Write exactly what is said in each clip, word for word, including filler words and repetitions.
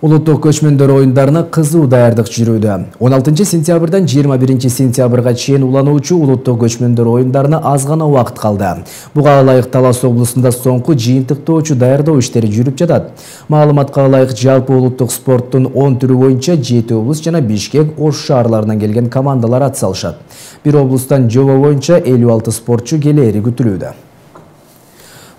Улуттук көчмөндөр оюндарына кызуу даярдык жүрүүдө. он алтынчы сентябрдан жыйырма биринчи сентябрга чейин улануучу улуттук көчмөндөр оюндарына аз гана убакыт калды. Буга ылайык Талас облусунда соңку жыйынтыктоочу даярдоо иштери жүрүп жатат. Маалыматка ылайык жалпы улуттук спорттун он түрү боюнча жети облус жана Бишкек, Ош шаарларынан келген командалар ат салышат. Бир облустан жобо боюнча элүү алты спортчу келери күтүлүүдө.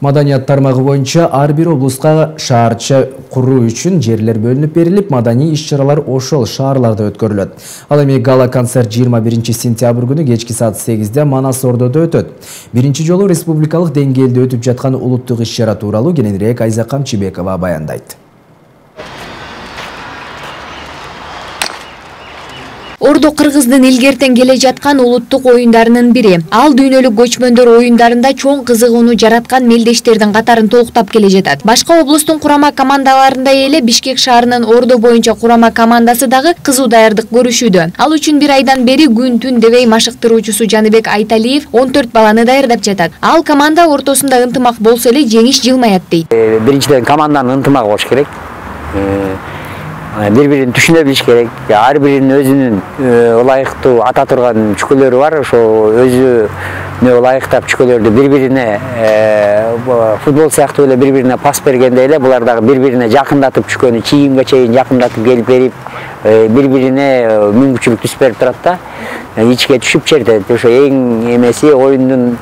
Маданият тармагы боюнча ар бир облуска шаарча куруу үчүн жерлер бөлүнүп берилип, маданий иш-чаралар ошол шаарларда өткөрүлөт. Ал эми гала концерт жыйырма биринчи сентябрь күнү кечки саат сегизде Манас Ордодо өтөт. Биринчи жолу республикалык деңгээлде өтүп жаткан улуттук иш-чара тууралуу кененирээк Айза Камчыбекова баяндайт. Ордо Кыргыздын илгертен келе жаткан улуттук оюндарынын бири. Ал дүйнөлүк көчмөндөр оюндарында чоң кызыгууну жараткан мелдештердин катарын толуктап келе жатат. Башка облустун курама командаларындай эле Бишкек шаарынын Ордо боюнча курама командасы дагы кызуу даярдык көрүшүүдө. Ал үчүн бир айдан бери күн түн дебей машыктыруучусу Жаныбек Айталиев он төрт баланы даярдап жатат. Ал команда ортосунда ынтымак болсо эле жеңиш жылмаят дейт. Биринчиден команданын ынтымагы болуш керек. Бири-бирин түшүнө билиш керек. Ар биринин өзүнүн ылайыктуу ата турган чүкөлөрү бар. Ошо өзүнө ылайыктап чүкөлөрдү бири-бирине футбол сыяктуу эле бири-бирине пас бергенде эле булар дагы бири-бирине жакындатып чүкөнү чийимге чейин жакындатып келип берип, бири-бирине мүмкүнчүлүк түзүп берип турат да. Ичке түшүп чертет. Ошо эң эмеси оюндун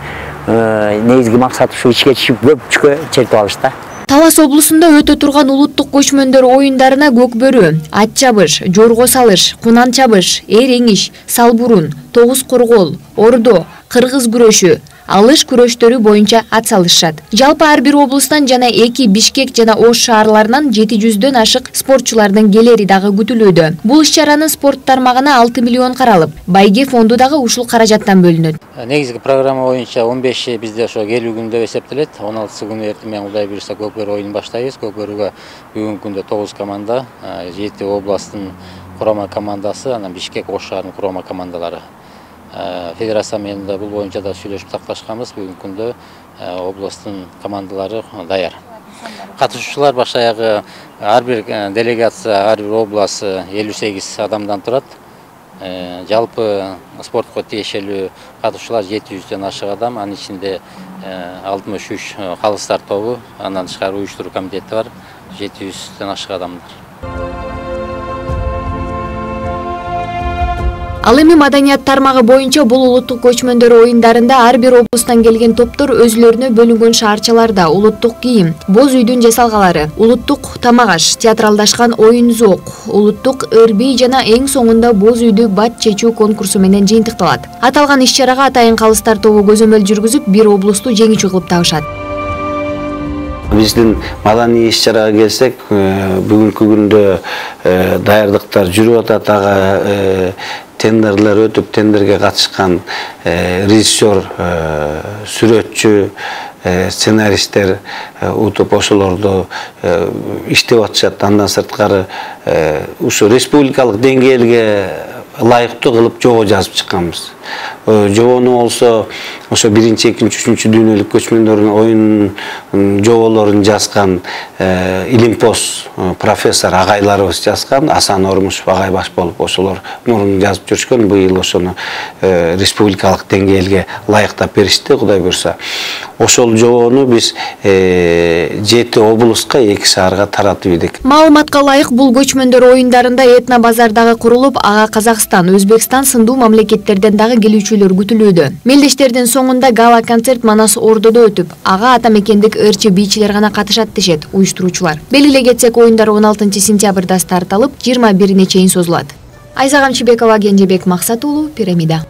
негизги максаты ушу ичке түшүп көп чүкө чертип алыш да. Талас облусунда өтө турган улуттук көчмөндөр оюндарына көкбөрү, ат чабыш, жорго салыш, кунан чабыш, эреңиш, салбурун, тогуз коргол, ордо, кыргыз күрөшү, алыш күрөштөрү боюнча ат салышат. Жалпы ар бир облустан жана эки Бишкек жана Ош шаарларынан жети жүздөн ашык спортчулардын келери дагы күтүлүүдө. Бул иш-чаранын спорт тармагына алты миллион каралып, байге фонду дагы ушул каражаттан бөлүнөт. Негизги программа боюнча он беши бизде ошо келүү күнү деп эсептелет. он алтысы күнү эртең менен Кудай буйруса көкбөрү оюнун баштайбыз. Көкбөрүгө бүгүнкү күндө тогуз команда, жети областтын курама командасы, анан Бишкек, Ош шаарынын курама командалары. Федерация менен да бул боюнча да сүйлөшүп такташканбыз. Бүгүнкү күндө областтын командалары даяр. Катышуучулар баш аягы ар бир делегация, ар бир область элүү сегиз адамдан турат. Жалпы спортко тиешелүү катышуучулар жети жүздөн ашык адам, анын ичинде алтымыш үч калыстар тобу, андан тышкары уюштуруу комитети бар, жети жүздөн ашык адамдар. Ал эми маданият тармагы боюнча бул улуттук көчмөндөр оюндарында ар бир облустан келген топтор өзүлөрүнө бөлүнгөн шаарчаларда улуттук кийим, боз үйдүн жасалгалары, улуттук тамак-аш, театралдашкан оюн-зоок, улуттук ыр-бий жана эң соңунда боз үйдү бат чечүү конкурсу менен жыйынтыкталат. Аталган иш-чарага атайын калыстар тобу көзөмөл жүргүзүп, бир облусту жеңүүчү кылып табышат. Биздин маданий иш-чарага келсек, бүгүнкү күндө даярдыктар жүрүп атат. Ага тендерлер өтүп, тендерге катышкан режиссер, сүрөтчү, сценаристтер утуп ошолорду иштеп атышат. Андан сырткары ушу республикалык деңгээлге ылайыктуу кылып жобо жазып чыкканбыз. Жобону болсо ошо биринчи, экинчи, үчүнчү дүйнөлүк көчмөндөр оюн жоболорун жазган илимпоз профессор агайларыбыз жазган. Асан Ормушев агай баш болуп ошолор мурун жазып жүрүшкөн. Быйыл ошону республикалык деңгээлге ылайыктап беришти, Кудай буйруса. Ошол жобону биз жети облуска, эки шаарга таратып идик. Маалыматка ылайык бул көчмөндөр оюндарында этно базар дагы курулуп, ага Казакстан, Өзбекстан сындуу мамлекеттерден дагы келүүчүлөр күтүлүүдө. Мелдештердин соңунда гала концерт Манас Ордодо өтүп, ага ата мекендик ырчы бийчилер гана катышат дешет уюштуруучулар. Белгилей кетсек, оюндар он алтынчы сентябрда старт алып, жыйырма бирине чейин созулат. Айза Камчыбекова, Кенжебек Максат уулу, Пирамида.